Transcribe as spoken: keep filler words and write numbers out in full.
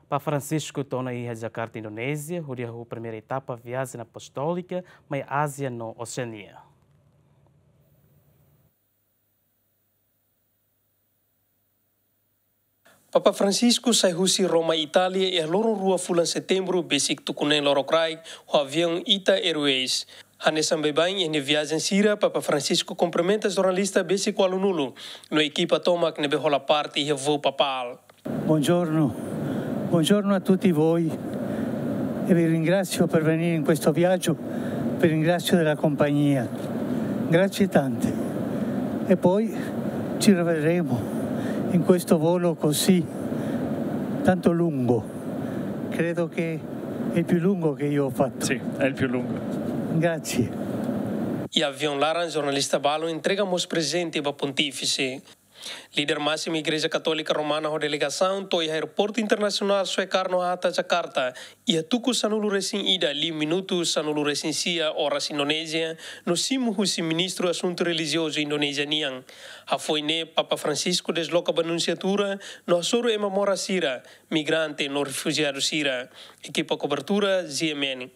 Papa Francisco to'o ona iha Jakarta, Indonézia, hodi hahú primeira etapa viajen apostólika mai Ázia no Oseania. Papa Francisco sai husi Roma, Itália, iha loron rua fulan Setembru besik tuku neen lorokraik ho aviaun Ita Airways. Hanesan baibain iha nia viajen sira, Papa Francisco kumprimenta jornalista besik ualunulu no ekipa tomak ne'ebé hola parte iha voo papál. Buongiorno, buongiorno a tutti voi e vi ringrazio per venire in questo viaggio, vi ringrazio della compagnia. Grazie tante. E poi ci rivedremo in questo volo così tanto lungo. Credo che è il più lungo che io ho fatto. Sì, è il più lungo. Grazie. Iha aviaun laran, jornalista balu entrega mós prezente ba Pontífise. Líder másimu Igreja Katólika Romana ho delegasaun to'o iha Aeroportu Internasionál Soekarno-Hatta, Jakarta, iha tuku sanulu-resin-ida, liu minutu sanulu-resin-sia oras Indonézia, no simu husi Ministru Asuntu Relijiozu Indonézia nian. Hafoin ne'e, Papa Francisco desloka ba Nunsiatura no hasoru ema moras sira, migrante no refujiadu sira. Ekipa kobertura, G M N.